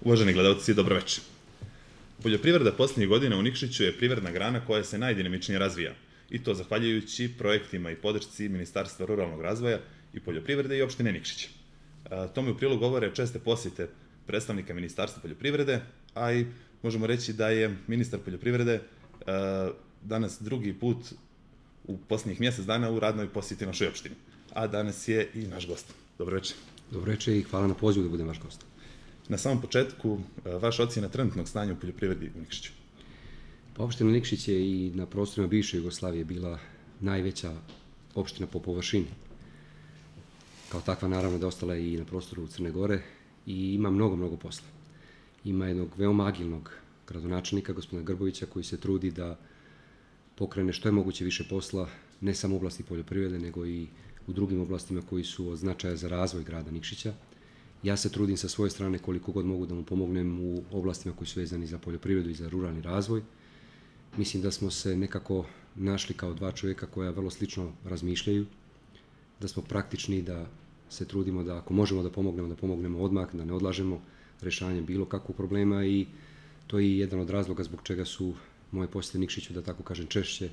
Uvaženi gledalci, dobroveče. Poljoprivreda posljednjih godina u Nikšiću je privredna grana koja se najdinamičnije razvija. I to zahvaljujući projektima i podršci Ministarstva ruralnog razvoja i poljoprivrede i opštine Nikšić. Tome u prilog govore česte posjete predstavnika Ministarstva poljoprivrede, a i možemo reći da je ministar poljoprivrede danas drugi put u posljednjih mjesec dana u radnoj posjeti našoj opštini. A danas je i naš gost. Dobroveče. Dobroveče i hvala na pozivu da budem vaš gost. Na samom početku, vaša ocjena trenutnog stanja u poljoprivredi u Nikšiću? Pa opština Nikšić je i na prostorima bivše Jugoslavije bila najveća opština po površini. Kao takva naravno da ostala i na prostoru Crne Gore i ima mnogo posla. Ima jednog veoma agilnog gradonačelnika, gospodina Grbovića, koji se trudi da pokrene što je moguće više posla, ne samo u oblasti poljoprivrede, nego i u drugim oblastima koji su od značaja za razvoj grada Nikšića. Ja se trudim sa svoje strane koliko god mogu da mu pomognem u oblastima koji su vezani za poljoprivredu i za ruralni razvoj. Mislim da smo se nekako našli kao dva čovjeka koja vrlo slično razmišljaju, da smo praktični, da se trudimo da ako možemo da pomognemo odmah, da ne odlažemo rešavanjem bilo kakvog problema i to je jedan od razloga zbog čega su moje posjete Nikšiću, da tako kažem, češće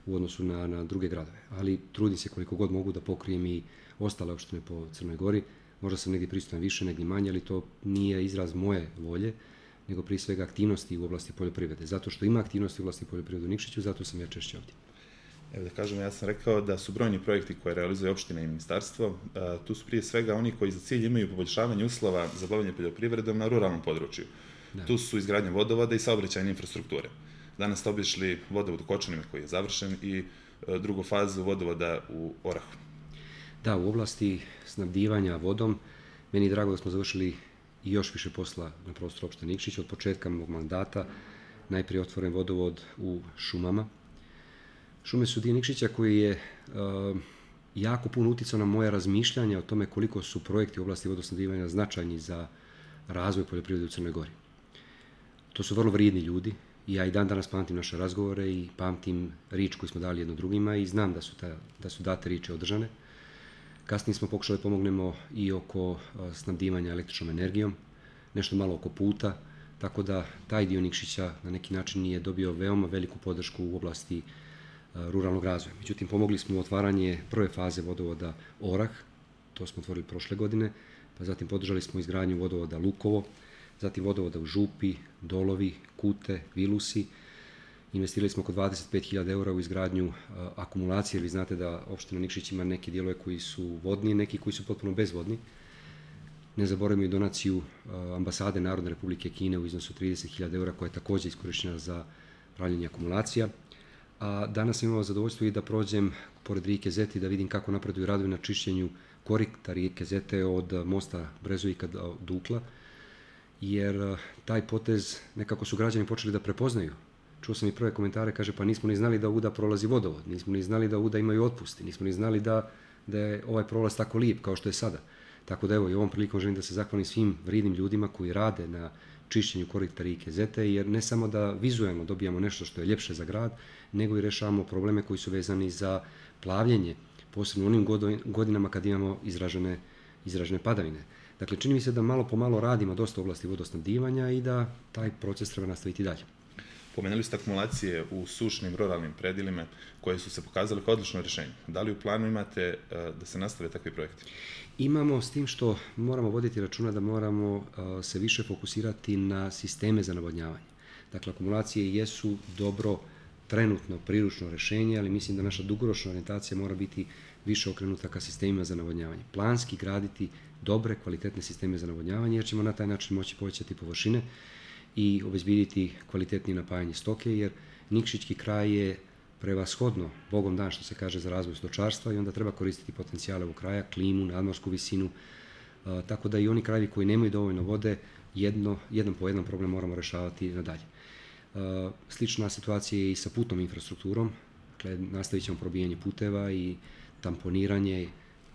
u odnosu na druge gradove. Ali trudim se koliko god mogu da pokrijem i ostale opštine po Crnoj Gori. Možda sam negdje prisutan više, negdje manje, ali to nije izraz moje volje, nego prije svega aktivnosti u oblasti poljoprivrede. Zato što ima aktivnosti u oblasti poljoprivrede u Nikšiću, zato sam ja češće ovdje. Evo da kažem, ja sam rekao da su brojni projekti koje realizuje opština i ministarstvo. Tu su prije svega oni koji za cilj imaju poboljšavanje uslova za bavljenje poljoprivredom na ruralnom području. Da. Tu su izgradnja vodovoda i saobraćajne infrastrukture. Danas ste obišli vodovod u Kočanima koji je završen i drugu fazu vodovoda u Orahu. Da, u oblasti snabdivanja vodom, meni je drago da smo završili i još više posla na prostoru opštine Nikšić. Od početka mog mandata najprije otvoren vodovod u šumama. Šume su dio Nikšića koji je jako puno uticao na moje razmišljanje o tome koliko su projekti u oblasti vodosnabdivanja značajni za razvoj poljoprivrede u Crnoj Gori. To su vrlo vrijedni ljudi i ja i dan danas pamtim naše razgovore i pamtim riječ koju smo dali jedno drugima i znam da su date riječi održane. Kasnije smo pokušali da pomognemo i oko snabdivanja električnom energijom, nešto malo oko puta, tako da taj dio Nikšića na neki način je dobio veoma veliku podršku u oblasti ruralnog razvoja. Međutim, pomogli smo u otvaranje prve faze vodovoda Orah, to smo otvorili prošle godine, pa zatim podržali smo izgradnju vodovoda Lukovo, zatim vodovoda u Župi, Dolovi, Kute, Vilusi. Investirali smo oko 25.000 € u izgradnju akumulacije, jer vi znate da opština Nikšić ima neke dijelove koji su vodni, neki koji su potpuno bezvodni. Ne zaboravimo i donaciju ambasade Narodne Republike Kine u iznosu 30.000 € koja je također iskorištena za pravljenje akumulacija. A danas sam imao zadovoljstvo i da prođem pored rijeke Zete i da vidim kako napreduju radovi na čišćenju korita rijeke Zete od mosta Brezovika do Dukla, jer taj potez nekako su građani počeli da prepoznaju. Čuo sam i prve komentare, kaže pa nismo ni znali da ovuda prolazi vodovod, nismo ni znali da ovuda imaju otpusti, nismo ni znali da je ovaj prolaz tako lijep kao što je sada. Tako da evo i ovom prilikom želim da se zahvalim svim vrijednim ljudima koji rade na čišćenju korita rijeke Zete, jer ne samo da vizualno dobijamo nešto što je ljepše za grad, nego i rešavamo probleme koji su vezani za plavljenje, posebno u onim godinama kad imamo izražene padavine. Dakle, čini mi se da malo po malo radimo dosta u oblasti vodosnabdivanja i da taj proces treba nastaviti dalje. Pomenuli ste akumulacije u sušnim ruralnim predjelima koje su se pokazale kao odlično rješenje. Da li u planu imate da se nastave takvi projekti? Imamo, s tim što moramo voditi računa da moramo se više fokusirati na sisteme za navodnjavanje. Dakle, akumulacije jesu dobro trenutno priručno rješenje, ali mislim da naša dugoročna orijentacija mora biti više okrenuta ka sistemima za navodnjavanje. Planski graditi dobre, kvalitetne sisteme za navodnjavanje, jer ćemo na taj način moći povećati površine i obezbediti kvalitetnije napajanje stoke, jer Nikšićki kraj je prevashodno, Bogom dan što se kaže, za razvoj stočarstva i onda treba koristiti potencijale ovog kraja, klimu, nadmorsku visinu, tako da i oni krajevi koji nemaju dovoljno vode, jedan po jedan problem moramo rešavati nadalje. Slična situacija je i sa putnom infrastrukturom, dakle nastavit ćemo probijanje puteva i tamponiranje,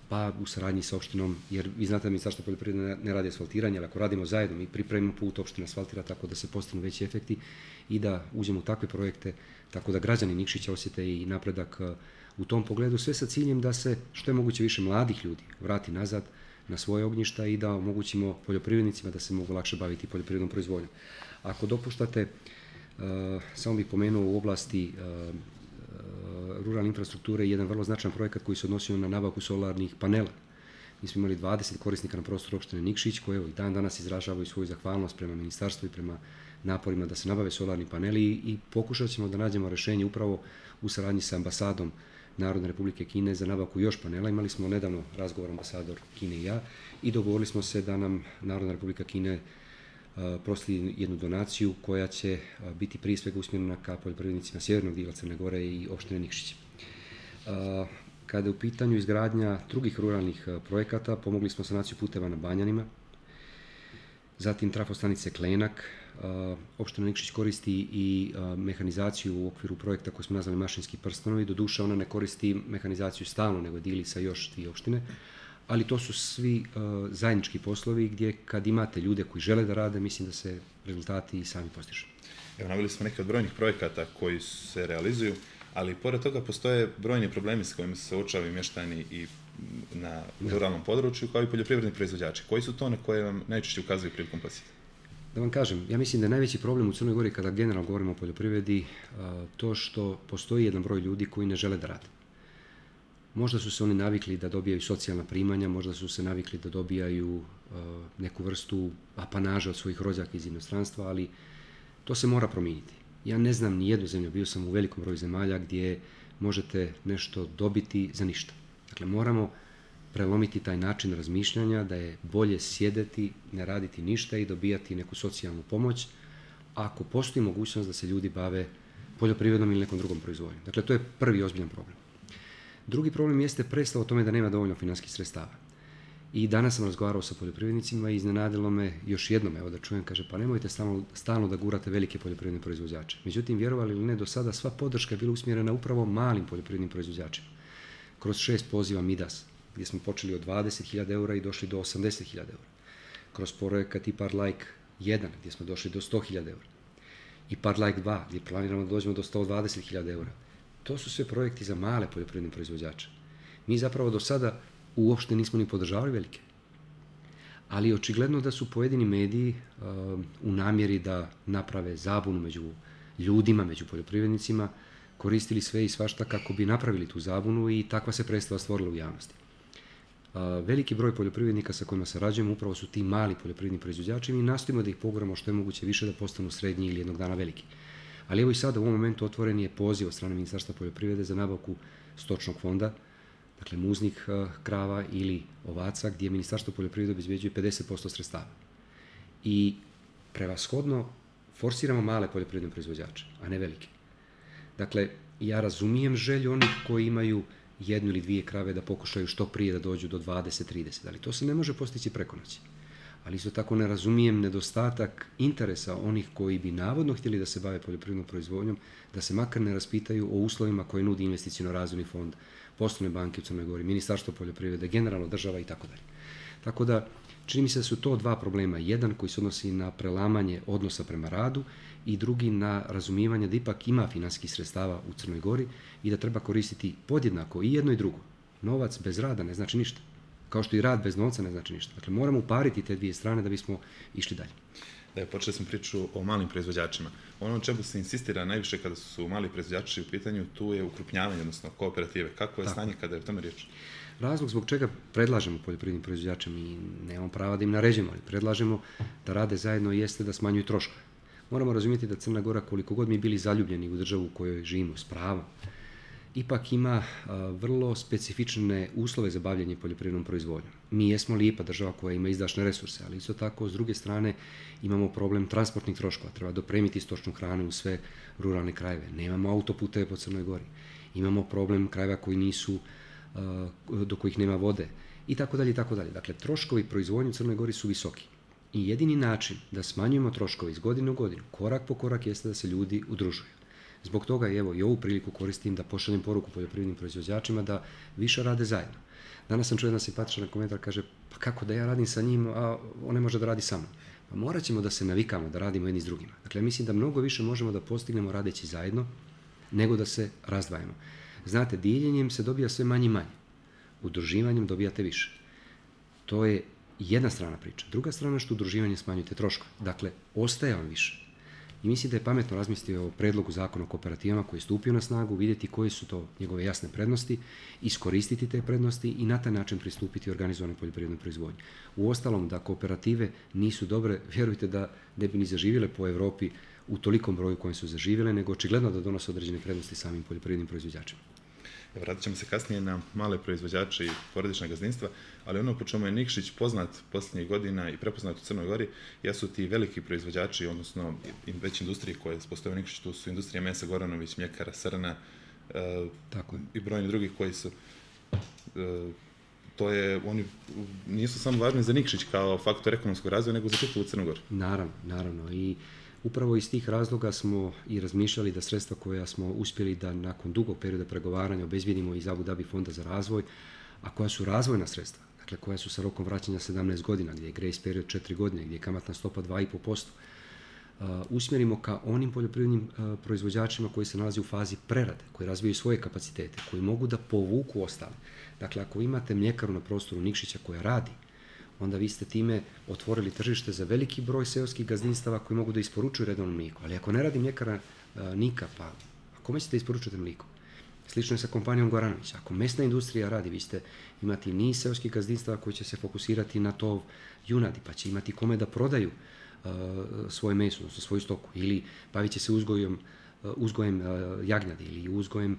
pa u saradnji sa opštinom, jer vi znate da Ministarstvo poljoprivrede ne radi asfaltiranje, ali ako radimo zajedno, mi pripremimo put, opština asfaltira tako da se postignu veći efekti i da uđemo u takve projekte, tako da građani Nikšića osjete i napredak u tom pogledu, sve sa ciljem da se što je moguće više mladih ljudi vrati nazad, na svoje ognjišta i da omogućimo poljoprivrednicima da se mogu lakše baviti poljoprivrednom proizvodnjom. Ako dopuštate, samo bih pomenuo u oblasti ruralne infrastrukture jedan vrlo značajan projekat koji se odnosio na nabavku solarnih panela. Mi smo imali 20 korisnika na prostoru opštine Nikšić koji i dan danas izražavaju svoju zahvalnost prema ministarstvu i prema naporima da se nabave solarni paneli i pokušat ćemo da nađemo rešenje upravo u saradnji sa ambasadom Narodne Republike Kine za nabavku još panela. Imali smo nedavno razgovor ambasador Kine i ja i dogovorili smo se da nam Narodna Republika Kine proslijedi jednu donaciju koja će biti prije svega usmjerena ka poljoprivrednicima sjevernog dijela Crne Gore i opštine Nikšić. Kada je u pitanju izgradnja drugih ruralnih projekata, pomogli smo sanaciju puteva na Banjanima, zatim trafostanice Klenak. Opština Nikšić koristi i mehanizaciju u okviru projekta koji smo nazvali Mašinski prstenovi. Doduše, ona ne koristi mehanizaciju stalno, nego dili sa još 2 opštine, ali to su svi zajednički poslovi gdje kad imate ljude koji žele da rade, mislim da se rezultati i sami postižu. Evo, naveli smo neke od brojnih projekata koji se realizuju, ali pored toga postoje brojni problemi s kojima se suočavaju mještani i na ruralnom području, kao i poljoprivredni proizvođači. Koji su to na koje vam najčešće ukazuju prilikom posjeta? Da vam kažem, ja mislim da je najveći problem u Crnoj Gori kada generalno govorimo o poljoprivredi to što postoji jedan broj ljudi koji ne žele da rade. Možda su se oni navikli da dobijaju socijalna primanja, možda su se navikli da dobijaju neku vrstu apanaža od svojih rođaka iz inostranstva, ali to se mora promijeniti. Ja ne znam ni jednu zemlju, bio sam u velikom broju zemalja gdje možete nešto dobiti za ništa. Dakle, moramo prelomiti taj način razmišljanja da je bolje sjedeti, ne raditi ništa i dobijati neku socijalnu pomoć ako postoji mogućnost da se ljudi bave poljoprivrednom ili nekom drugom proizvodnjom. Dakle, to je prvi ozbiljan problem. Drugi problem jeste predstava o tome da nema dovoljno financijskih sredstava. I danas sam razgovarao sa poljoprivrednicima i iznenadilo me još jednom, evo da čujem, kaže, pa nemojte stalno da gurate velike poljoprivredne proizvođače. Međutim, vjerovali ili ne, do sada sva podrška je bila usmjerena upravo malim poljoprivrednim proizvođačima. Kroz 6 poziva Midas, gdje smo počeli od 20.000 eura i došli do 80.000 eura. Kroz projekat IPARD Like 1, gdje smo došli do 100.000 eura. IPARD Like 2, gdje planiramo da dođemo do 120.000 eura. To su sve projekti za male poljoprivredne proizvođače. Mi zapravo do sada uopšte nismo ni podržavali velike. Ali očigledno da su pojedini mediji u namjeri da naprave zabunu među ljudima, među poljoprivrednicima, koristili sve i svašta kako bi napravili tu zabunu i takva se predstava stvorila u javnosti. Veliki broj poljoprivrednika sa kojima sarađujemo upravo su ti mali poljoprivredni proizvođači i mi nastojimo da ih poguramo što je moguće više da postanu srednji ili jednog dana veliki. Ali evo i sada u ovom momentu otvoren je poziv od strane Ministarstva poljoprivrede za nabavku stočnog fonda, dakle muznih krava ili ovaca, gdje Ministarstvo poljoprivrede obezbeđuje 50% sredstava. I prevashodno forsiramo male poljoprivredne proizvođače, a ne velike. Dakle, ja razumijem želju onih koji imaju 1 ili 2 krave da pokušaju što prije da dođu do 20-30, ali to se ne može postići preko noći. Ali isto tako ne razumijem nedostatak interesa onih koji bi navodno htjeli da se bave poljoprivrednom proizvodnjom, da se makar ne raspitaju o uslovima koje nudi investiciono razvojni fond, poslovne banke u Crnoj Gori, Ministarstvo poljoprivrede, generalno država i tako dalje. Tako da, čini mi se da su to 2 problema. Jedan koji se odnosi na prelamanje odnosa prema radu i drugi na razumijevanje da ipak ima financijskih sredstava u Crnoj Gori i da treba koristiti podjednako i jedno i drugo. Novac bez rada ne znači ništa. Kao što i rad bez novca ne znači ništa. Dakle, moramo upariti te 2 strane da bismo išli dalje. Da, počeli smo priču o malim proizvođačima. Ono o čemu se insistira najviše kada su mali proizvođači u pitanju, tu je ukrupnjavanje, odnosno kooperative. Kako je stanje kada je o tome riječ? Razlog zbog čega predlažemo poljoprivrednim proizvođačima i nemamo prava da im naređujemo, ali predlažemo da rade zajedno jeste da smanjuju troškove. Moramo razumjeti da Crna Gora, koliko god mi bili zaljubljeni u državu u kojoj živimo s pravom, ipak ima vrlo specifične uslove za bavljanje poljoprivrednom proizvodnjom. Mi jesmo lijepa država koja ima izdašne resurse, ali isto tako, s druge strane, imamo problem transportnih troškova. Treba dopremiti stočnu hranu u sve ruralne krajeve. Nemamo autoputeve po Crnoj Gori. Imamo problem krajeva koji nisu, do kojih nema vode i tako dalje i tako dalje. Dakle, troškovi proizvodnje u Crnoj Gori su visoki. I jedini način da smanjujemo troškove iz godine u godinu, korak po korak, jeste da se ljudi udružuju. Zbog toga evo i ovu priliku koristim da pošaljem poruku poljoprivrednim proizvođačima da više rade zajedno. Danas sam čuo jedan simpatičan komentar, kaže, pa kako da ja radim sa njim, a on ne može da radi sa mnom. Pa morat ćemo da se navikamo da radimo jedni s drugima. Dakle, mislim da mnogo više možemo da postignemo radeći zajedno nego da se razdvajamo. Znate, dijeljenjem se dobija sve manje i manje. Udruživanjem dobijate više. To je jedna strana priča. Druga strana što udruživanje smanjuje te troškove. Dakle, ostaje vam više. I mislim da je pametno razmisliti o predlogu zakona o kooperativama koji je stupio na snagu, vidjeti koje su to njegove jasne prednosti, iskoristiti te prednosti i na taj način pristupiti organizovanoj poljoprivrednoj proizvodnji. Uostalom, da kooperative nisu dobre, vjerujte da ne bi ni zaživjele po Europi u tolikom broju kojem su zaživjele, nego očigledno da donose određene prednosti samim poljoprivrednim proizvođačima. Vratit ćemo se kasnije na male proizvođače i porodična gazdinstva, ali ono po čemu je Nikšić poznat posljednjih godina i prepoznat u Crnoj Gori jesu ti veliki proizvođači, odnosno već industrije koje postoje u Nikšiću, tu su industrija mesa Goranović, mljekara Srna i brojni drugi koji su... Oni nisu samo važni za Nikšić kao faktor ekonomskog razvoja, nego za čitavu Crnu Goru. Naravno. I upravo iz tih razloga smo i razmišljali da sredstva koja smo uspjeli da nakon dugog perioda pregovaranja obezbijedimo iz Abu Dhabi fonda za razvoj, a koja su razvojna sredstva, dakle koja su sa rokom vraćanja 17 godina, gdje je grace period 4 godine, gdje je kamatna stopa 2,5%, usmjerimo ka onim poljoprivrednim proizvođačima koji se nalaze u fazi prerade, koji razvijaju svoje kapacitete, koji mogu da povuku ostale. Dakle, ako imate mljekaru na prostoru Nikšića koja radi, onda vi ste time otvorili tržište za veliki broj seoskih gazdinstava koji mogu da isporučuju redovno mlijeko. Ali ako ne radi mljekara Nika, pa kome ćete isporučiti mlijeko? Slično je sa kompanijom Goranović. Ako mesna industrija radi, vi ćete imati niz seoskih gazdinstava koji će se fokusirati na tov junadi, pa će imati kome da prodaju svoje meso, odnosno svoju stoku, ili bavit će se uzgojem jagnjadi ili uzgojem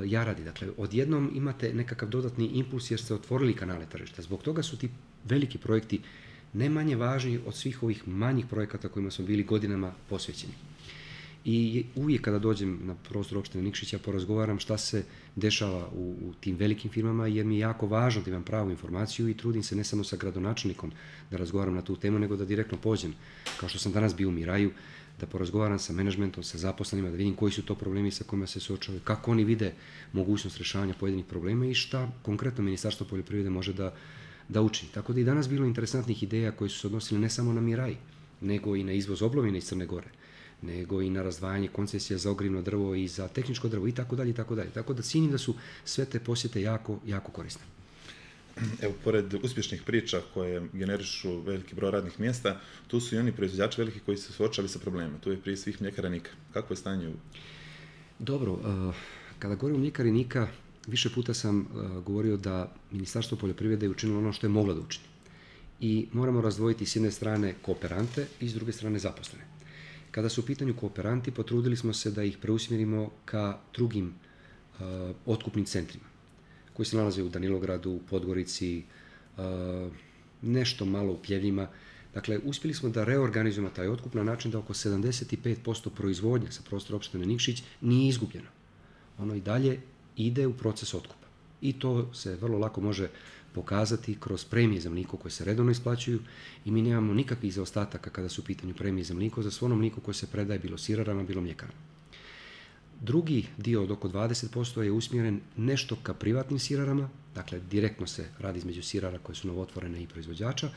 jaradi. Dakle, odjednom imate nekakav dodatni impuls jer ste otvorili kanale tržišta. Zbog toga su ti veliki projekti ne manje važni od svih ovih manjih projekata kojima smo bili godinama posvećeni. I uvijek kada dođem na prostor opštine Nikšića porazgovaram šta se dešava u tim velikim firmama, jer mi je jako važno da imam pravu informaciju i trudim se ne samo sa gradonačelnikom da razgovaram na tu temu, nego da direktno pođem, kao što sam danas bio u Miraju, da porazgovaram sa menadžmentom, sa zaposlenima, da vidim koji su to problemi sa kojima se suočavaju, kako oni vide mogućnost rješavanja pojedinih problema i šta konkretno Ministarstvo poljoprivrede može da učini. Tako da i danas bilo interesantnih ideja koje su se odnosile ne samo na Miraj, nego i na izvoz oblovine iz Crne Gore, nego i na razdvajanje koncesija za ogrjevno drvo i za tehničko drvo i tako dalje. Tako da cijenim da su sve te posjete jako, jako korisne. Evo, pored uspješnih priča koje generišu veliki broj radnih mjesta, tu su i oni proizvođači veliki koji su suočali sa problemima. Tu je prije svih mljekara Nika. Kako je stanje? Dobro, kada govorim o mljekari Nika, više puta sam govorio da Ministarstvo poljoprivrede je učinilo ono što je moglo da učini. I moramo razdvojiti s jedne strane kooperante i s druge strane zaposlene. Kada su u pitanju kooperanti, potrudili smo se da ih preusmjerimo ka drugim otkupnim centrima koji se nalaze u Danilogradu, u Podgorici, nešto malo u Pljevljima. Dakle, uspjeli smo da reorganizujemo taj otkup na način da oko 75% proizvodnje sa prostora opštine Nikšić nije izgubljeno. Ono i dalje ide u proces otkupa. I to se vrlo lako može pokazati kroz premije za mlijeko koje se redovno isplaćuju i mi nemamo nikakvih zaostataka kada su u pitanju premije za mlijeko, za svo ono mlijeko koje se predaje bilo sirarama, bilo mljekarama. Drugi dio od oko 20% je usmjeren nešto ka privatnim sirarama, dakle direktno se radi između sirara koje su novotvorene i proizvođača,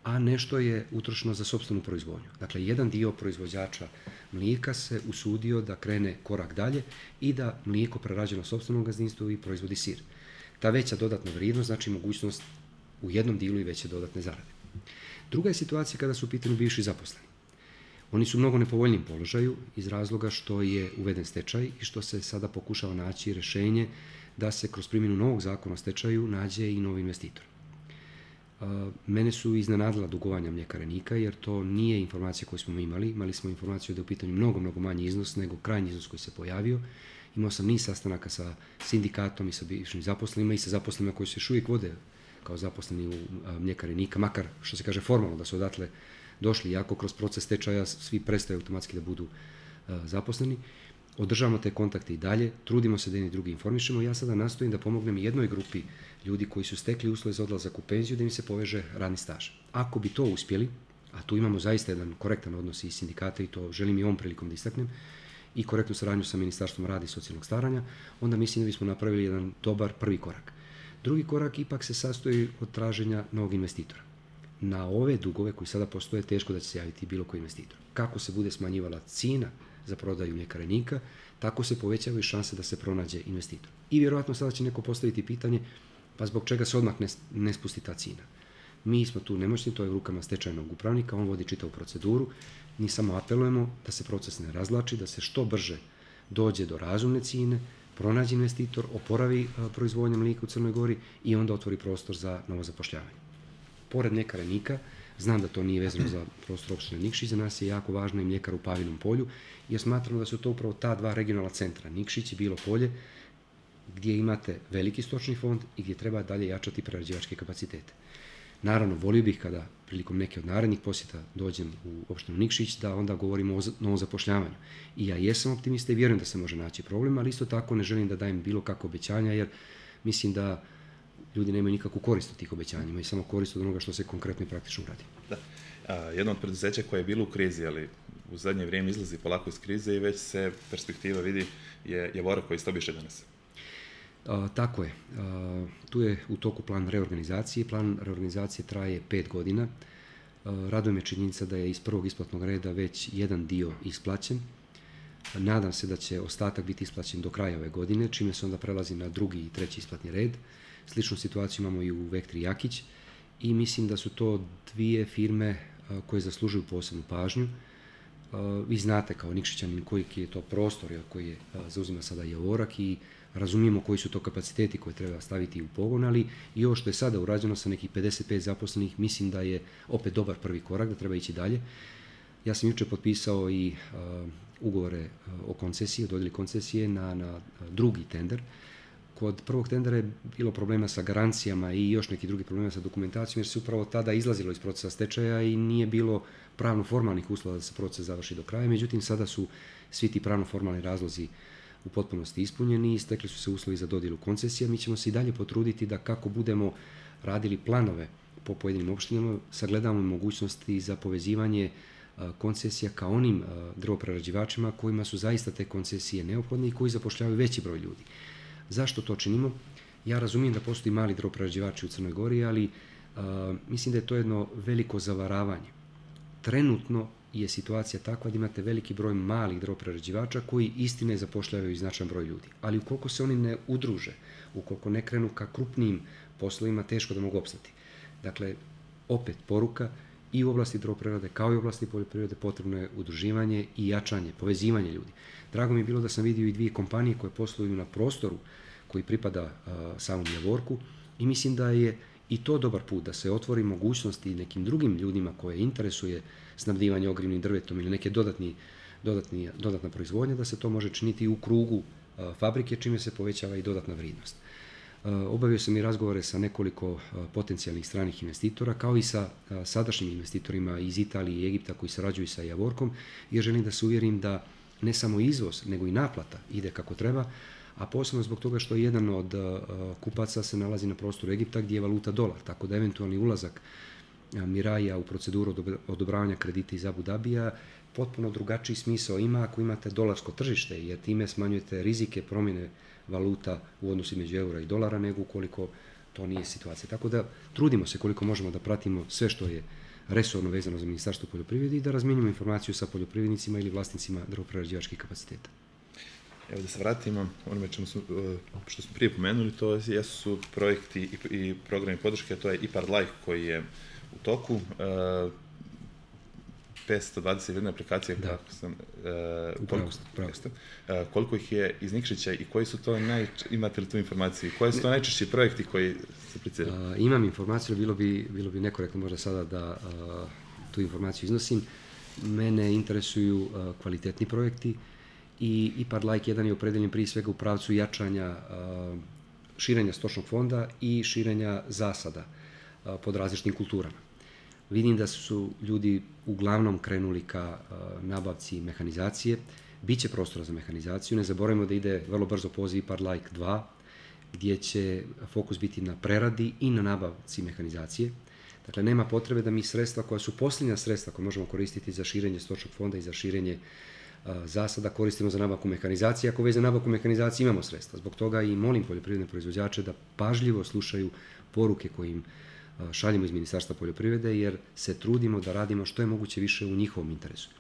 a nešto je utrošeno za sopstvenu proizvodnju. Dakle, jedan dio proizvođača mlijeka se usudio da krene korak dalje i da mlijeko prerađeno sopstvenom gazdinstvu i proizvodi sir. Ta veća dodatna vrijednost znači mogućnost u jednom dijelu i veće dodatne zarade. Druga je situacija kada su u pitanju bivši zaposleni. Oni su u mnogo nepovoljnijem položaju iz razloga što je uveden stečaj i što se sada pokušava naći rješenje da se kroz primjenu novog zakona o stečaju nađe i novi investitor. Mene su iznenadila dugovanja mljekare Nika jer to nije informacija koju smo mi imali. Imali smo informaciju da je u pitanju mnogo manji iznos nego krajnji iznos koji se pojavio. Imao sam niz sastanaka sa sindikatom i sa bivšim zaposlenima i sa zaposlenima koji se još uvijek vode kao zaposleni u mljekari Nika, makar što se kaže formalno da su odatle došli, iako kroz proces stečaja svi prestaju automatski da budu zaposleni. Održavamo te kontakte i dalje, trudimo se da jedni drugi informišemo. Ja sada nastojim da pomognem jednoj grupi ljudi koji su stekli uslove za odlazak u penziju da im se poveže radni staž. Ako bi to uspjeli, a tu imamo zaista jedan korektan odnos i sindikata i to želim i ovom prilikom da istaknem, i korektnu saradnju sa Ministarstvom rada i socijalnog staranja, onda mislim da bismo napravili jedan dobar prvi korak. Drugi korak ipak se sastoji od traženja novog investitora. Na ove dugove koji sada postoje teško da će se javiti bilo koji investitor. Kako se bude smanjivala cijena za prodaju mljekare Nika, tako se povećavaju šanse da se pronađe investitor. I vjerojatno sada će neko postaviti pitanje, pa zbog čega se odmah ne spusti ta cijena? Mi smo tu nemoćni, to je u rukama stečajnog upravnika, on vodi čitavu proceduru. Mi samo apelujemo da se proces ne razvlači, da se što brže dođe do razumne cijene, pronađe investitor, oporavi proizvodnju mlijeka u Crnoj Gori i onda otvori prostor za novo zapošljavanje. Pored mljekare Nika, znam da to nije vezano za prostor opštine Nikšić, za nas je jako važna i mljekara u Pavinom polju, jer smatramo da su to upravo ta dva regionalna centra, Nikšić i Bilo Polje, gdje imate veliki stočni fond i gdje treba dalje jačati prerađivačke kapacitete. Naravno, volio bih kada prilikom neke od narednih posjeta dođem u opštinu Nikšić da onda govorimo o novom zapošljavanju. I ja jesam optimista i vjerujem da se može naći problem, ali isto tako ne želim da dajem bilo kakve obećanja, jer mislim da ljudi nemaju nikakvu korist od tih obećanja, imaju samo korist od onoga što se konkretno i praktično radi. Da. Jedno od preduzeća koje je bilo u krizi, ali u zadnje vrijeme izlazi polako iz krize i već se perspektiva vidi je Javorek koji ste obišli danas. Tako je. Tu je u toku plan reorganizacije. Plan reorganizacije traje 5 godina. Raduje me činjenica da je iz prvog isplatnog reda već jedan dio isplaćen. Nadam se da će ostatak biti isplaćen do kraja ove godine, čime se onda prelazi na drugi i treći isplatni red. Sličnu situaciju imamo i u Vektri Jakić i mislim da su to dvije firme koje zaslužuju posebnu pažnju. Vi znate kao Nikšićanin koji je to prostor koji zauzima sada Javorak i razumijemo koji su to kapaciteti koje treba staviti u pogon, ali i ovo što je sada urađeno sa nekih 55 zaposlenih, mislim da je opet dobar prvi korak, da treba ići dalje. Ja sam jučer potpisao i ugovore o koncesiji, o dodjeli koncesije na drugi tender. Kod prvog tendera je bilo problema sa garancijama i još neki drugi problema sa dokumentacijom, jer se upravo tada izlazilo iz procesa stečaja i nije bilo pravno-formalnih uslova da se proces završi do kraja. Međutim, sada su svi ti pravno-formalni razlozi u potpunosti ispunjeni i stekli su se uslovi za dodjelu koncesija. Mi ćemo se i dalje potruditi da kako budemo radili planove po pojedinim opštinama, sagledamo mogućnosti za povezivanje koncesija ka onim drvoprerađivačima kojima su zaista te koncesije neophodne i koji zapošljavaju veći broj ljudi. Zašto to činimo? Ja razumijem da postoji mali drvoprerađivači u Crnoj Gori, ali mislim da je to jedno veliko zavaravanje. Trenutno je situacija takva da imate veliki broj malih drvoprerađivača koji istine zapošljavaju značajan broj ljudi. Ali ukoliko se oni ne udruže, ukoliko ne krenu ka krupnijim poslovima, teško da mogu opstati. Dakle, opet poruka i u oblasti drvoprerade kao i u oblasti poljoprivrede potrebno je udruživanje i jačanje, povezivanje ljudi. Drago mi je bilo da sam vidio i dvije kompanije koje posluju na prostoru koji pripada samom Javorku i mislim da je i to dobar put da se otvori mogućnosti nekim drugim ljudima koje interesuje snabdivanje ogrjevnim drvetom ili neke dodatna proizvodnja, da se to može činiti u krugu fabrike, čime se povećava i dodatna vrijednost. Obavio sam i razgovore sa nekoliko potencijalnih stranih investitora, kao i sa sadašnjim investitorima iz Italije i Egipta koji sarađuju sa Javorkom, jer želim da se uvjerim da ne samo izvoz, nego i naplata ide kako treba, a posebno zbog toga što jedan od kupaca se nalazi na prostoru Egipta gdje je valuta dolar, tako da eventualni ulazak Miraja u proceduru odobravanja kredita iz Abu Dabija potpuno drugačiji smisao ima ako imate dolarsko tržište, jer time smanjujete rizike promjene valuta u odnosu između eura i dolara, nego ukoliko to nije situacija. Tako da trudimo se koliko možemo da pratimo sve što je resorno vezano za Ministarstvo poljoprivrede i da razmijenimo informaciju sa poljoprivrednicima ili vlasnicima drvoprerađivačkih kapaciteta. Evo da se vratimo onome što smo prije pomenuli, to jesu projekti i programi podrške, to je IPARD Like koji je u toku. 521 aplikacija, kako sam... Koliko ih je iz Nikšića i koji su to imate li tu informaciju? Koji su to najčešći projekti koji se apliciraju? Imam informaciju, bilo bi nekorektno možda sada da tu informaciju iznosim. Mene interesuju kvalitetni projekti i IPARD Like 1 je opredeljen prije svega u pravcu jačanja širenja stočnog fonda i širenja zasada pod različitim kulturama. Vidim da su ljudi uglavnom krenuli ka nabavci mehanizacije. Biće prostora za mehanizaciju. Ne zaboravimo da ide vrlo brzo poziv IPARD Like 2, gdje će fokus biti na preradi i na nabavci mehanizacije. Dakle, nema potrebe da mi sredstva koja su posljednja sredstva koje možemo koristiti za širenje stočnog fonda i za širenje zasada koristimo za nabavku mehanizacije. Ako već za nabavku mehanizacije imamo sredstva. Zbog toga i molim poljoprivredne proizvođače da pažljivo slušaju poruke koje im šaljemo iz Ministarstva poljoprivrede, jer se trudimo da radimo što je moguće više u njihovom interesu.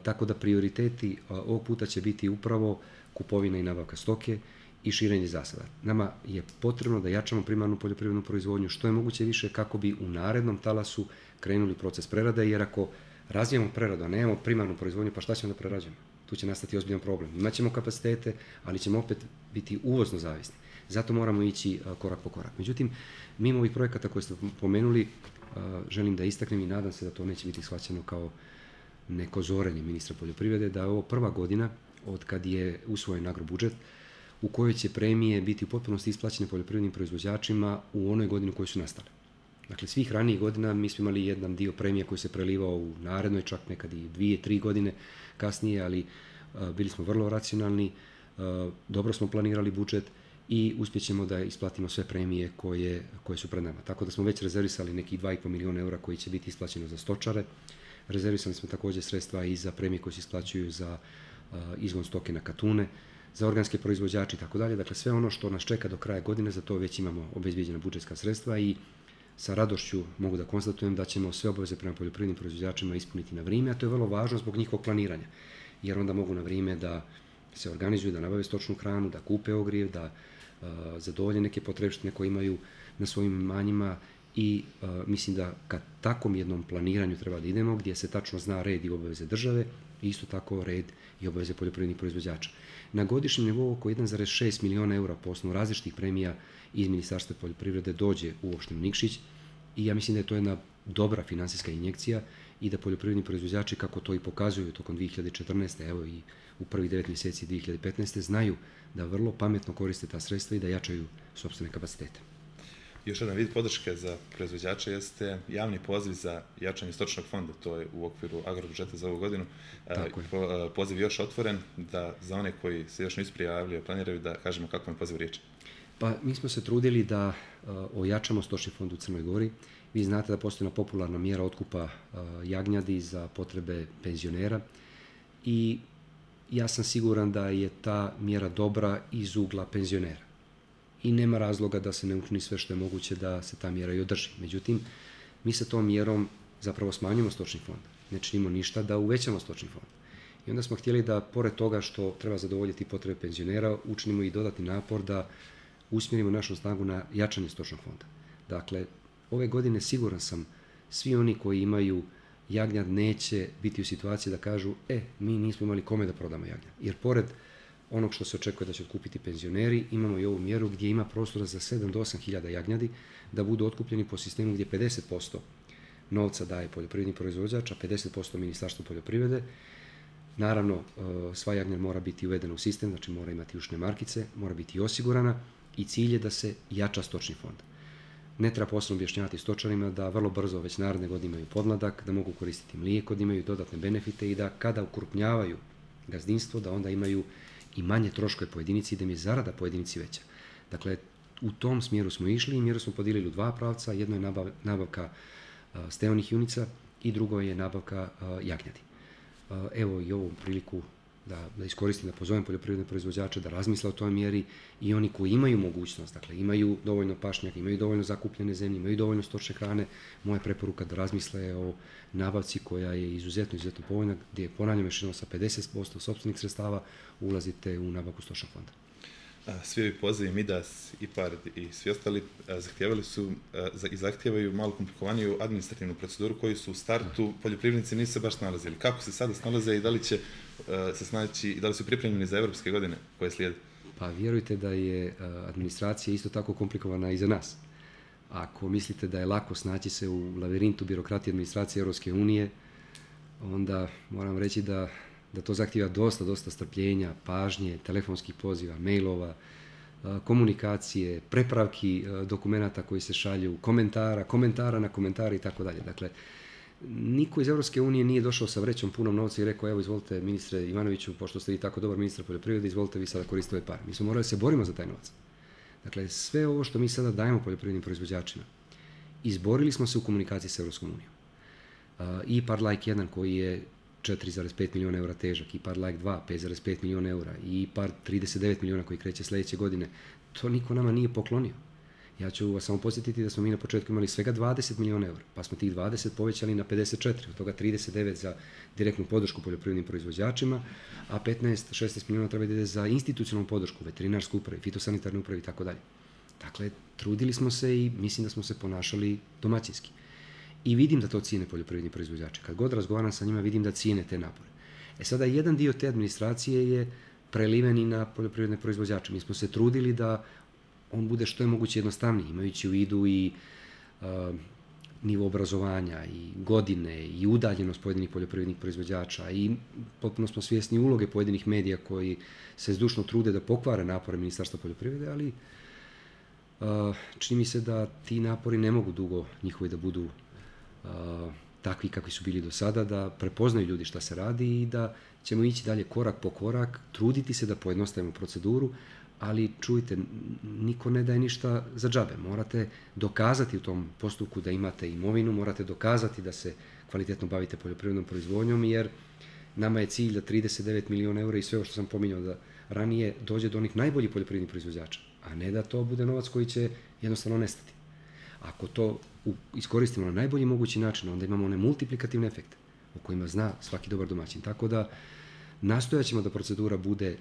Tako da prioriteti ovog puta će biti upravo kupovina i nabavka stoke i širenje zasada. Nama je potrebno da jačamo primarnu poljoprivrednu proizvodnju što je moguće više kako bi u narednom talasu krenuli proces prerade, jer ako razvijamo preradu, a nemamo primarnu proizvodnju, pa šta ćemo da prerađujemo? Tu će nastati ozbiljan problem. Imaćemo kapacitete, ali ćemo opet biti uvozno zavisni. Zato moramo ići korak po korak. Međutim, mimo ovih projekata koje ste pomenuli, želim da istaknem i nadam se da to neće biti shvaćeno kao neko zorenje ministra poljoprivrede, da je ovo prva godina od kad je usvojen agrobudžet u kojoj će premije biti u potpunosti isplaćene poljoprivrednim proizvođačima u onoj godini u kojoj su nastale. Dakle, svih ranijih godina mi smo imali jedan dio premije koji se prelivao u narednoj, čak nekad i 2-3 godine kasnije, ali bili smo vrlo racionalni, dobro smo planirali budžet i uspjećemo da isplatimo sve premije koje su pred nama. Tako da smo već rezervisali nekih 2,5 milijuna eura koji će biti isplaćeno za stočare. Rezervisali smo također sredstva i za premije koje se isplaćuju za izgon stoke na katune, za organske proizvođače i tako dalje. Dakle, sve ono što nas čeka do kraja godine, za to već imamo obezbijeđena budžetska sredstva i sa radošću mogu da konstatujem da ćemo sve obaveze prema poljoprivrednim proizvođačima ispuniti na vrijeme, a to je vrlo važno zbog njihovog planiranja, jer onda mogu na vrijeme da se organizuju, da nabave stočnu hranu, da kupe ogrijev, da zadovolje neke potrebštine koje imaju na svojim imanjima i mislim da ka takvom jednom planiranju treba da idemo, gdje se tačno zna red i obaveze države i isto tako red i obaveze poljoprivrednih proizvođača. Na godišnjem nivou oko 1,6 milijuna eura po osnovu različitih premija iz Ministarstva poljoprivrede dođe u opštinu Nikšić i ja mislim da je to jedna dobra finansijska injekcija i da poljoprivredni proizvođači, kako to i pokazuju tokom 2014. evo i u prvih 9 mjeseci 2015. znaju da vrlo pametno koriste ta sredstva i da jačaju sopstvene kapacitete. Još jedan vid podrške za proizvođače jeste javni poziv za jačanje stočnog fonda, to je u okviru agrobudžeta za ovu godinu. Poziv je još otvoren, da za one koji se još nisu prijavili, planiraju da kažemo kako je poziv riječ. Pa mi smo se trudili da ojačamo stočni fond u Crnoj Gori. Vi znate da postoji jedna popularna mjera otkupa jagnjadi za potrebe penzionera i ja sam siguran da je ta mjera dobra iz ugla penzionera. I nema razloga da se ne učini sve što je moguće da se ta mjera i održi. Međutim, mi sa tom mjerom zapravo smanjujemo stočni fond. Ne činimo ništa da uvećamo stočni fond. I onda smo htjeli da, pored toga što treba zadovoljiti potrebe penzionera, učinimo i dodatni napor da usmjerimo našu snagu na jačanje stočnog fonda. Dakle, ove godine siguran sam, svi oni koji imaju jagnjad neće biti u situaciji da kažu mi nismo imali kome da prodamo jagnjad. Jer pored onog što se očekuje da će otkupiti penzioneri, imamo i ovu mjeru gdje ima prostora za 7 do 8 hiljada jagnjadi da budu otkupljeni po sistemu gdje 50% novca daje poljoprivredni proizvođač, a 50% Ministarstvo poljoprivrede. Naravno, sva jagnjad mora biti uvedena u sistem, znači mora imati ušne markice, mora biti osigurana i cilj je da se jača stočni fond. Ne treba posebno objašnjavati stočarima da vrlo brzo već naredne godine imaju podmladak, da mogu koristiti mlijeko, da imaju dodatne benefite i da kada ukrupnjavaju gazdinstvo, da onda imaju i manje troškove po jedinici i da im je zarada po jedinici veća. Dakle, u tom smjeru smo išli i mjeru smo podijelili u dva pravca. Jedno je nabavka steonih junica i drugo je nabavka jagnjadi. Evo i ovu priliku da iskoristim, da pozovem poljoprivredne proizvođače da razmisle o toj mjeri i oni koji imaju mogućnost, dakle imaju dovoljno pašnjaka, imaju dovoljno zakupljene zemlje, imaju dovoljno stočne hrane, moja preporuka da razmisle o nabavci koja je izuzetno povoljna, gdje ponavljam još jednom sa 50% sopstvenih sredstava ulazite u nabavku stočnog fonda. Svi ovi pozivi, Midas, IPARD i svi ostali zahtijevaju malo komplikovaniju administrativnu proceduru koju su u startu poljoprivrednici nisu se baš snalazili. Kako se sada snalaze i da li će se snaći i da li su pripremljeni za evropske godine koje slijede? Pa vjerujte da je administracija isto tako komplikovana i za nas. Ako mislite da je lako snaći se u lavirintu birokratije administracije Europske unije, onda moram reći da to zahtijeva dosta strpljenja, pažnje, telefonskih poziva, mailova, komunikacije, prepravki dokumenata koji se šalju, komentara na komentari i tako dalje. Dakle, niko iz Europske unije nije došao sa vrećom punom novca i rekao, evo izvolite ministre Ivanoviću, pošto ste vi tako dobar ministar poljoprivrede, izvolite vi sada koristiti ove pare. Mi smo morali da se borimo za taj novac. Dakle, sve ovo što mi sada dajemo poljoprivrednim proizvođačima, izborili smo se u komunikaciji sa Europskom unijom. IPARD Like 1 koji je 4,5 milijuna eura težak, IPARD Like 2, 5,5 milijuna eura i IPARD 39 milijuna koji kreće sljedeće godine, to niko nama nije poklonio. Ja ću vas samo podsjetiti da smo mi na početku imali svega 20 milijuna eura, pa smo tih 20 povećali na 54, od toga 39 za direktnu podršku poljoprivrednim proizvođačima, a 15-16 milijuna treba da ide za institucionalnu podršku, veterinarsku upravu, fitosanitarnu upravu i tako dalje. Dakle, trudili smo se i mislim da smo se ponašali domaćinski. I vidim da to cijene poljoprivredni proizvođači. Kad god razgovaram sa njima, vidim da cijene te napore. Sada, jedan dio te administracije je preliven i na poljoprivredne proizvođače. Mi smo se trudili da on bude što je moguće jednostavniji, imajući u vidu i nivo obrazovanja, i godine, i udaljenost pojedinih poljoprivrednih proizvođača, i potpuno smo svjesni uloge pojedinih medija koji se zdušno trude da pokvare napore Ministarstva poljoprivrede, ali čini mi se da ti napori ne mogu dugo njihovi da budu takvi kakvi su bili do sada, da prepoznaju ljudi šta se radi i da ćemo ići dalje korak po korak, truditi se da pojednostavimo proceduru, ali čujte, niko ne daje ništa za džabe. Morate dokazati u tom postupku da imate imovinu, morate dokazati da se kvalitetno bavite poljoprivrednom proizvodnjom, jer nama je cilj da 39 milijuna eura i sve ovo što sam pominjao da ranije dođe do onih najboljih poljoprivrednih proizvođača, a ne da to bude novac koji će jednostavno nestati. Ako to iskoristimo na najbolji mogući način, onda imamo one multiplikativne efekte o kojima zna svaki dobar domaćin. Tako da nastojat ćemo da procedura bude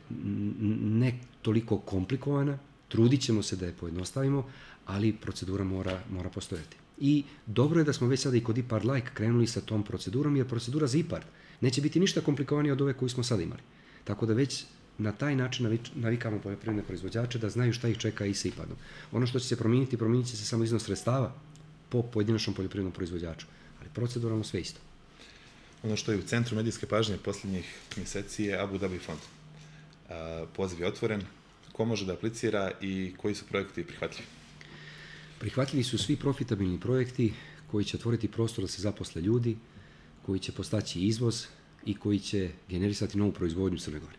ne toliko komplikovana, trudit ćemo se da je pojednostavimo, ali procedura mora postojati. I dobro je da smo već sada i kod IPARD Like krenuli sa tom procedurom, jer procedura za IPARD neće biti ništa komplikovanija od ove koju smo sada imali. Tako da već na taj način navikamo poljoprivredne proizvođače da znaju šta ih čeka i sa IPARD-om. Ono što će se promijeniti, promijenit će se samo iznos sredstava po pojedinačnom poljoprivrednom proizvođaču, ali proceduralno sve isto. Ono što je u centru medijske pažnje posljednjih mjeseci je Abu Dhabi fond. Poziv je otvoren. Ko može da aplicira i koji su projekti prihvatljivi? Prihvatljivi su svi profitabilni projekti koji će otvoriti prostor da se zaposle ljudi, koji će postaći izvoz i koji će generisati novu proizvodnju u Crnoj Gori.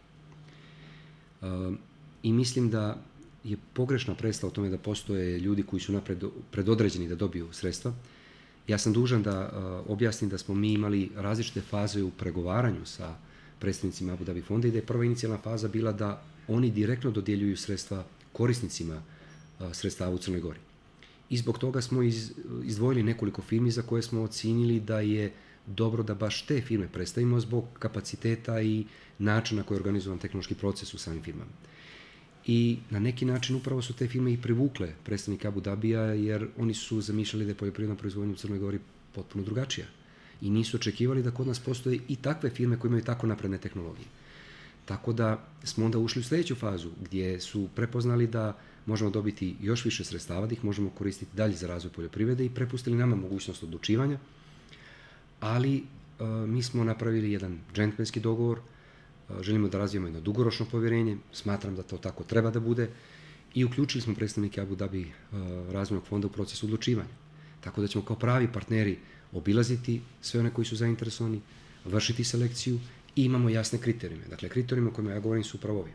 I mislim da je pogrešna predstava o tome da postoje ljudi koji su napred predodređeni da dobiju sredstva. Ja sam dužan da objasnim da smo mi imali različite faze u pregovaranju sa predstavnicima Abu Dhabi fonda i da je prva inicijalna faza bila da oni direktno dodjeljuju sredstva korisnicima sredstava u Crnoj Gori. I zbog toga smo izdvojili nekoliko firmi za koje smo ocijenili da je dobro da baš te firme predstavimo zbog kapaciteta i načina na koji je organizovan tehnološki proces u samim firmama. I na neki način upravo su te firme i privukle predstavnike Abu Dhabija, jer oni su zamišljali da je poljoprivredna proizvodnja u Crnoj Gori potpuno drugačija. I nisu očekivali da kod nas postoje i takve firme koje imaju tako napredne tehnologije. Tako da smo onda ušli u sljedeću fazu gdje su prepoznali da možemo dobiti još više sredstava, da ih možemo koristiti dalje za razvoj poljoprivrede i prepustili nama mogućnost odlučivanja, ali mi smo napravili jedan džentlmenski dogovor, želimo da razvijemo jedno dugoročno povjerenje, smatram da to tako treba da bude i uključili smo predstavnike Abu Dhabi razvojnog fonda u proces odlučivanja. Tako da ćemo kao pravi partneri obilaziti sve one koji su zainteresovani, vršiti selekciju i imamo jasne kriterijume. Dakle, kriterijumi o kojima ja govorim su upravo ovi: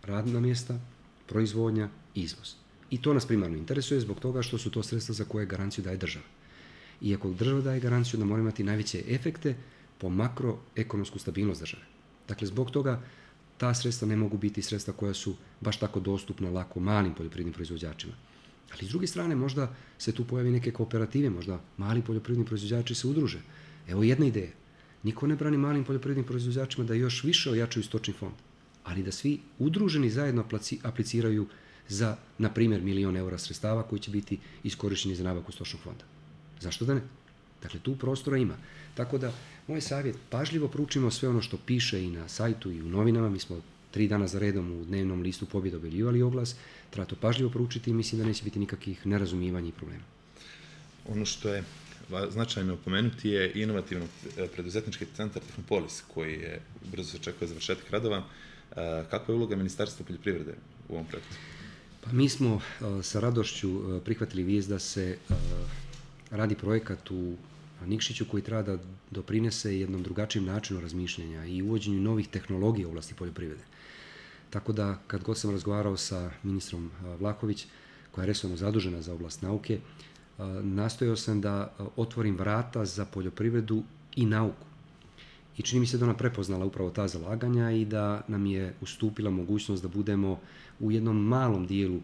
radna mjesta, proizvodnja, izvoz. I to nas primarno interesuje zbog toga što su to sredstva za koje garanciju daje država. I ako država daje garanciju, da mora imati najveće efekte po makroekonomsku stabilnost države. Dakle, zbog toga ta sredstva ne mogu biti sredstva koja su baš tako dostupna lako malim poljoprivrednim proizvođačima. Ali s druge strane, možda se tu pojavi neke kooperative, možda mali poljoprivredni proizvođači se udruže. Evo jedna ideja. Niko ne brani malim poljoprivrednim proizvođačima da još više ojačaju stočni fond, ali da svi udruženi zajedno apliciraju za, na primjer, 1 milion eura sredstava koji će biti iskorišteni za nabavku stočnog fonda. Zašto da ne? Dakle, tu prostora ima. Tako da, moj savjet, pažljivo proučimo sve ono što piše i na sajtu i u novinama. Mi smo 3 dana za redom u dnevnom listu Pobjeda objavljivali oglas. Treba to pažljivo proučiti i mislim da neće biti nikakvih nerazumijevanja i problema. Ono što je značajno pomenuti je inovativno preduzetnički centar Tehnopolis, koji je brzo se očekuje završetak radova. Kakva je uloga Ministarstva poljoprivrede u ovom projektu? Pa mi smo sa radošću prihvatili vijest da se radi projekat u Nikšiću koji treba da doprinese jednom drugačijem načinu razmišljanja i uvođenju novih tehnologija u oblasti poljoprivrede. Tako da, kad god sam razgovarao sa ministrom Vlahović, koja je resorno zadužena za oblast nauke, nastojao sam da otvorim vrata za poljoprivredu i nauku. I čini mi se da ona prepoznala upravo ta zalaganja i da nam je ustupila mogućnost da budemo u jednom malom dijelu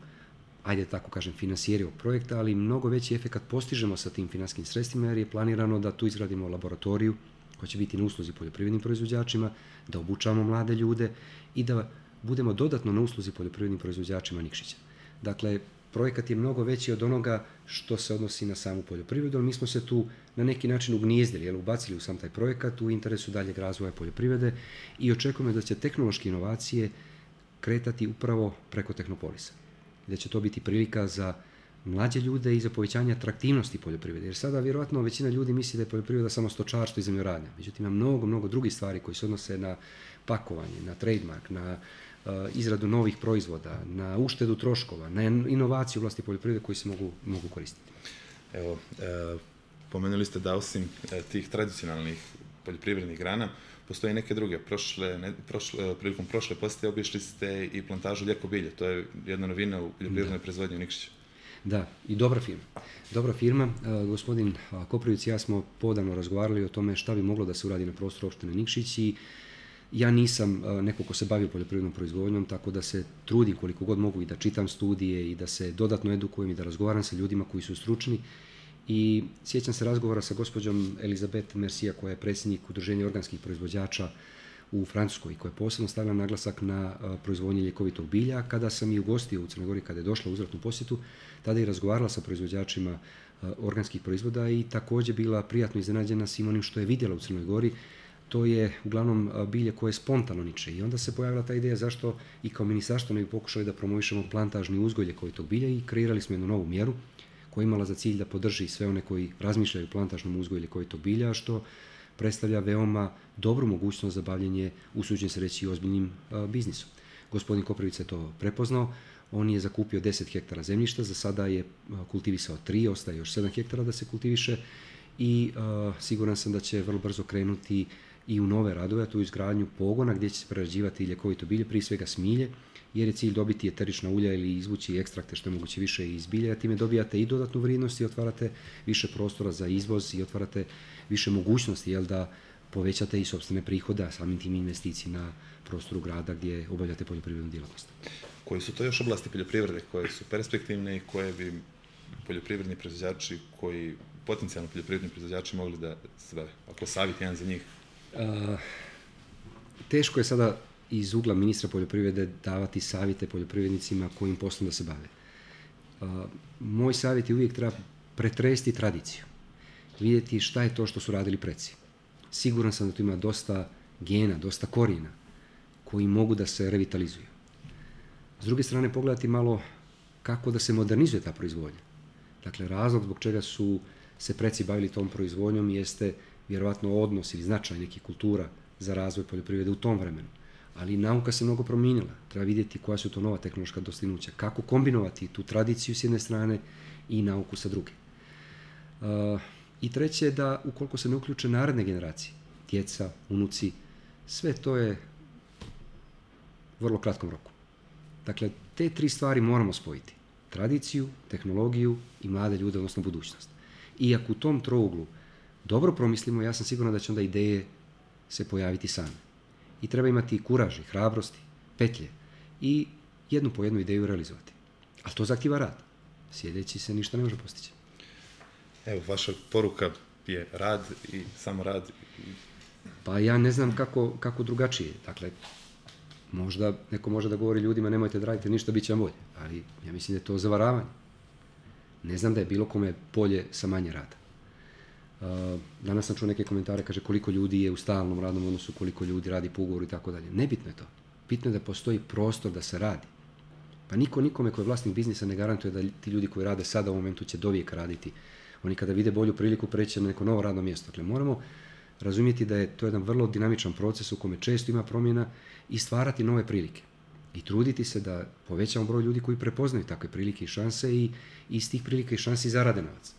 ajde tako kažem, finansijeri ovog projekta, ali mnogo veći efekat postižemo sa tim finansijskim sredstvima jer je planirano da tu izgradimo laboratoriju koja će biti na usluzi poljoprivrednim proizvođačima, da obučavamo mlade ljude i da budemo dodatno na usluzi poljoprivrednim proizvođačima Nikšića. Dakle, projekat je mnogo veći od onoga što se odnosi na samu poljoprivredu, ali mi smo se tu na neki način ugnijezdili, ubacili u sam taj projekat u interesu daljeg razvoja poljoprivrede i očekujemo da će tehnološke inovacije kretati upravo preko Tehnopolisa. Da će to biti prilika za mlađe ljude i za povećanje atraktivnosti poljoprivrede. Jer sada vjerojatno većina ljudi misli da je poljoprivreda samo stočarstvo i zemljoradnja. Međutim, ima mnogo drugih stvari koji se odnose na pakovanje, na trademark, na izradu novih proizvoda, na uštedu troškova, na inovaciju u vlasti poljoprivrede koji se mogu koristiti. Evo, pomenuli ste da osim tih tradicionalnih poljoprivrednih grana, postoje neke druge. Prilikom prošle posjete obišli ste i plantažu Ljeko bilje. To je jedna novina u poljoprivrednoj proizvodnji u Nikšiću. Da, i dobra firma. Dobra firma. Gospodin Koprivić i ja smo podavno razgovarali o tome šta bi moglo da se uradi na prostoru opštine Nikšić i ja nisam neko ko se bavio poljoprivrednom proizvodnjom, tako da se trudim koliko god mogu i da čitam studije i da se dodatno edukujem i da razgovaram sa ljudima koji su stručni. I sjećam se razgovora sa gospođom Elizabeth Mercia, koja je predsjednik Udruženja organskih proizvođača u Francuskoj, koja je posebno stavila naglasak na proizvodnji ljekovitog bilja. Kada sam i ugostio u Crnoj Gori, kada je došla u uzvratnu posjetu, tada je razgovarala sa proizvođačima organskih proizvoda i također bila prijatno iznenađena svim onim što je vidjela u Crnoj Gori. To je uglavnom bilje koje spontano niče i onda se pojavila ta ideja zašto i kao ministarstvo ne bi pokušali da promovišemo plantažni uzgoj ljekovitog bilja i kreirali smo jednu novu mjeru koja je imala za cilj da podrži sve one koji razmišljaju o plantažnom uzgoju ljekovitog bilja, što predstavlja veoma dobru mogućnost za bavljenje, usuđujem se reći, ozbiljnim biznisom. Gospodin Koprivić je to prepoznao, on je zakupio 10 hektara zemljišta, za sada je kultivisao 3, ostaje još 7 hektara da se kultiviše i siguran sam da će vrlo brzo krenuti i u nove radove, a tu izgradnju pogona gdje će se prerađivati ljekovito bilje, prije svega smilje, jer je cilj dobiti eterična ulja ili izvući ekstrakte što je moguće više iz bilja, a time dobijate i dodatnu vrijednost i otvarate više prostora za izvoz i otvarate više mogućnosti da povećate i sopstvene prihode, a samim tim investicije na prostoru grada gdje obavljate poljoprivrednu djelatnost. Koji su to još oblasti poljoprivrede koje su perspektivne i koje bi poljoprivredni proizvođači, koji potencijalno poljoprivredni proizvođači mogli da se bave? Ako savjet jedan za njih? Teško je sada iz ugla ministra poljoprivrede davati savjete poljoprivrednicima kojim poslom da se bave. Moj savjet je uvijek treba pretresti tradiciju, vidjeti šta je to što su radili preci. Siguran sam da tu ima dosta gena, dosta korijena koji mogu da se revitalizuju. S druge strane, pogledati malo kako da se modernizuje ta proizvodnja. Dakle, razlog zbog čega su se preci bavili tom proizvodnjom jeste vjerovatno odnos ili značaj nekih kultura za razvoj poljoprivrede u tom vremenu. Ali nauka se mnogo promijenila. Treba vidjeti koja su to nova tehnološka dostignuća. Kako kombinovati tu tradiciju s jedne strane i nauku sa druge. I treće je da ukoliko se ne uključe naredne generacije, djeca, unuci, sve to je u vrlo kratkom roku. Dakle, te 3 stvari moramo spojiti. Tradiciju, tehnologiju i mlade ljude, odnosno budućnost. I ako u tom trouglu dobro promislimo, ja sam siguran da će onda ideje se pojaviti same. I treba imati kuraž i hrabrosti, petlje i jednu po jednu ideju realizovati. Ali to zahtijeva rad. Sjedeći se ništa ne može postići. Evo, vaša poruka je rad i samo rad. Pa ja ne znam kako drugačije. Dakle, možda neko može da govori ljudima nemojte da radite ništa, bit će vam bolje. Ali ja mislim da je to zavaravanje. Ne znam da je bilo kome bolje sa manje rada. Danas sam čuo neke komentare, kaže koliko ljudi je u stalnom radnom odnosu, koliko ljudi radi po ugovoru i tako dalje. Nebitno je to. Bitno je da postoji prostor da se radi. Pa niko nikome koji je vlasnik biznisa ne garantuje da ti ljudi koji rade sada u momentu će dovijek raditi. Oni kada vide bolju priliku preći na neko novo radno mjesto. Dakle, moramo razumjeti da je to jedan vrlo dinamičan proces u kome često ima promjena i stvarati nove prilike. I truditi se da povećamo broj ljudi koji prepoznaju takve prilike i šanse i iz tih prilika i šansi zarade novac.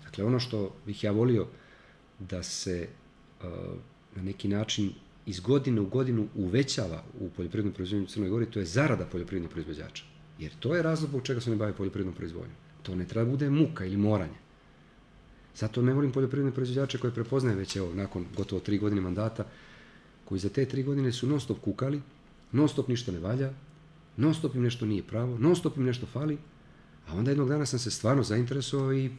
Dakle, ono što bih ja volio da se na neki način iz godine u godinu uvećava u poljoprivrednom proizvodnju u Crnoj Gori, to je zarada poljoprivrednih proizvođača. Jer to je razlog zbog čega se ne bave poljoprivrednom proizvodnjom. To ne treba bude muka ili moranje. Zato ne volim poljoprivredne proizvođače koje prepoznaje već nakon gotovo 3 godine mandata, koji za te 3 godine su non stop kukali, non stop ništa ne valja, non stop im nešto nije pravo, non stop im nešto fali, A onda jednog dana sam se stvarno zainteresovao i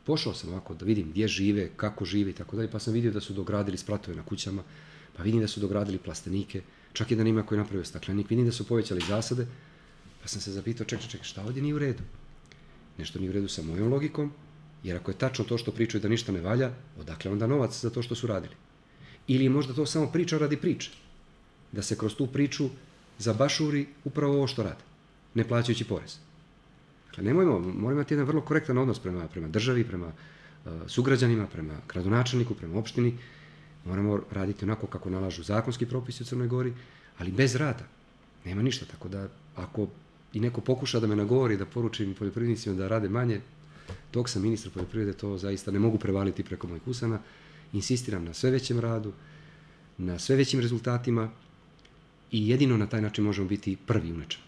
pošao sam ovako da vidim gdje žive, kako žive i tako dalje, pa sam vidio da su dogradili spratove na kućama, pa vidim da su dogradili plastenike, čak jedan ima koji je napravio staklenik, vidim da su povećali zasade, pa sam se zapitao, čekaj, šta ovdje nije u redu? Nešto nije u redu sa mojom logikom, jer ako je tačno to što pričaju da ništa ne valja, odakle onda novac za to što su radili? Ili je možda to samo priča radi priče, da se kroz tu priču zabašuri upravo ovo što rade, ne plaćajući porez. Dakle, moramo imati jedan vrlo korektan odnos prema državi, prema sugrađanima, prema gradonačelniku, prema opštini. Moramo raditi onako kako nalažu zakonski propisi u Crnoj Gori, ali bez rada. Nema ništa, tako da ako i neko pokuša da me nagovori da poručim poljoprivrednicima da rade manje, dok sam ministar poljoprivrede, to zaista ne mogu prevaliti preko mojih usana. Insistiram na sve većem radu, na sve većim rezultatima i jedino na taj način možemo biti prvi u nečemu.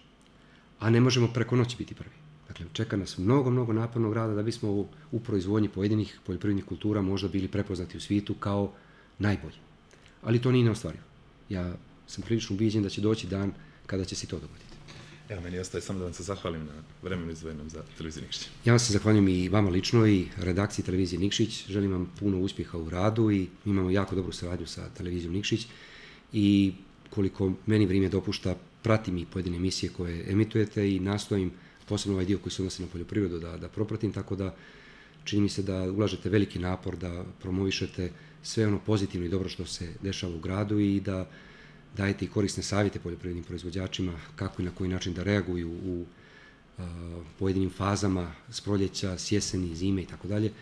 A ne možemo preko noći biti prvi. Dakle, čeka nas mnogo napornog rada da bismo u proizvodnji pojedinih poljoprivrednih kultura možda bili prepoznati u svijetu kao najbolji. Ali to nije neostvarivo. Ja sam prilično ubijeđen da će doći dan kada će se to dogoditi. Evo, meni ostaje samo da vam se zahvalim na vremenu izdvojenom za televiziju Nikšić. Ja vam se zahvaljujem i vama lično i redakciji televizije Nikšić. Želim vam puno uspjeha u radu i imamo jako dobru saradnju sa televizijom Nikšić i koliko meni vrijeme dopušta, pratim i pojedine emisije koje emitujete i nastojim, posebno ovaj dio koji se odnosi na poljoprivredu, da propratim, tako da čini mi se da ulažete veliki napor da promovišete sve ono pozitivno i dobro što se dešava u gradu i da dajete i korisne savjete poljoprivrednim proizvođačima kako i na koji način da reaguju u pojedinim fazama s proljeća, s jeseni, zime i tako dalje.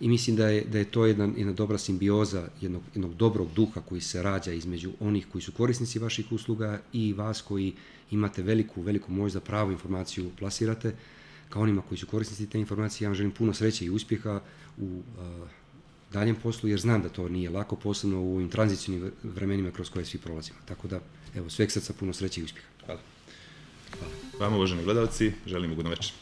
I mislim da je to jedna dobra simbioza jednog dobrog duha koji se rađa između onih koji su korisnici vaših usluga i vas koji imate veliku moć da pravu informaciju plasirate, kao onima koji su korisnici te informacije. Ja vam želim puno sreće i uspjeha u daljem poslu, jer znam da to nije lako, posebno u ovim tranzicijnim vremenima kroz koje svi prolazimo. Tako da, evo, sveg srca puno sreće i uspjeha. Hvala. Vama, uvaženi gledalci, želim ugodno večer.